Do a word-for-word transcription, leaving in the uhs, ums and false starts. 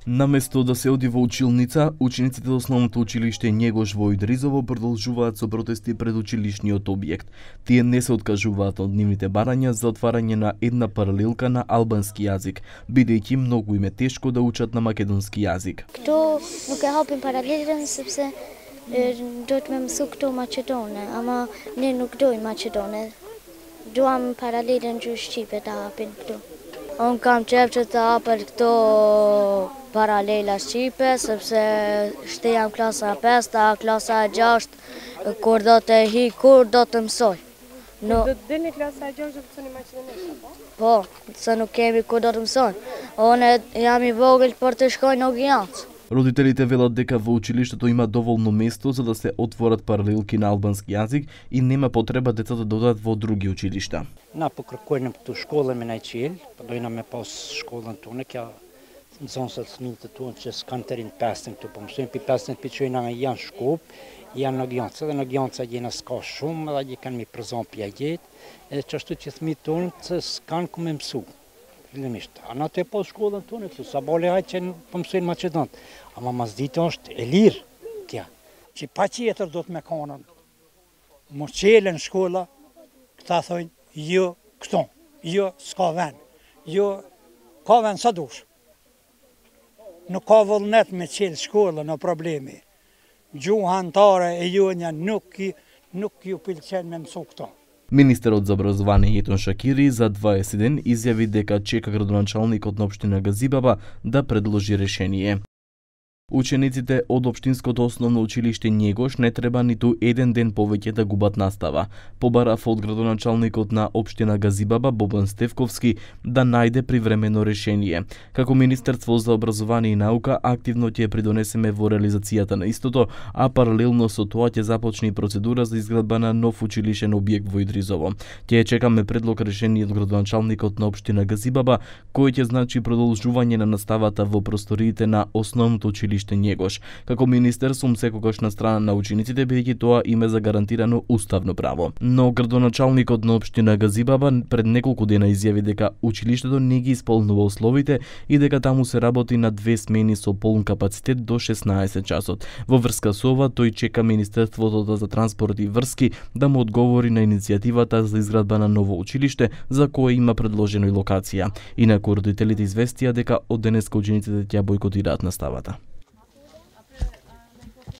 Наместо да се оди во училница, учениците од основното училиште Његош во Идризово продолжуваат со протести пред училишниот објект. Тие не се откажуваат од нивните барања за отварање на една паралелка на албански јазик, бидејќи многу им е тешко да учат на македонски јазик. Kto nuk e hapin paralelen sepse duhet me mësu këto maqedone, ama ne nuk dojmë maqedone. Duam paralelen gjë shqipe ta hapin këtu. Unë kam qef që të hapër këto paralela shqipe, sepse shte jam klasa pesë, ta klasa gjashtë, kur do të hi, kur do të mësoj. No, do të dilni klasa gjashtë do të mësoni maqedonisht, po? Po, se nuk kemi kur do të mësoj. Unë jam i vogël për të shkoj në Ogijancë. Родителите велат дека во училиштето има доволно место за да се отворат паралелки на албански јазик и нема потреба децата да одат во други училишта. Napokon kojnë këtu shkollën me na qel, po dojna me pas shkollën tonë, kja nxënësat fëmijët tonë që s'kan të rinë pesën këtu, po mësojnë pi pesën pi çojna janë Shkup, janë në Gjancë, dhe në Gjancë gjena s'ka shumë, edhe gjë kanë mi prezant pi jetë, edhe çashtu që fëmijët tonë që s'kan ku me mësu. Fillimisht, ana të po shkollën tonë këtu, sa bale hajtë që po mësojnë maqedont, ama mas ditë është e lirë kja. Që pa qetër do të me kanën, më qelen shkolla, këta thojnë, jo këto, jo s'ka ven, jo ka ven sa dush. Nuk ka vullnet me qelë shkolla në problemi. Gjuha antare e jonja nuk, nuk ju pëlqen me mësu këto. Министерот за образование Јетон Шакири за дваесет ден изјави дека чека градоначалникот на општина Газибаба да предложи решение. Учениците од општинското основно училиште Његош не треба ниту еден ден повеќе да губат настава. Побарав од градоначалникот на општина Газибаба Бобан Стевковски да најде привремено решение. Како Министерство за образование и наука активно ќе придонесеме во реализацијата на истото, а паралелно со тоа ќе започне и процедура за изградба на нов училишен објект во Идризово. Ќе чекаме предлог решение од градоначалникот на општина Газибаба, кој ќе значи продолжување на наставата во просториите на основното училиште Његош. Како министер сум секогаш на страна на учениците, бидејќи тоа им е загарантирано уставно право. Но градоначалникот на општина Газибаба пред неколку дена изјави дека училиштето не ги исполнува условите и дека таму се работи на две смени со полн капацитет до шеснаесет часот. Во врска со ова, тој чека Министерството за транспорт и врски да му одговори на иницијативата за изградба на ново училиште, за кое има предложено и локација. Инаку родителите известија дека од денеска учениците ќе бојкотираат наставата.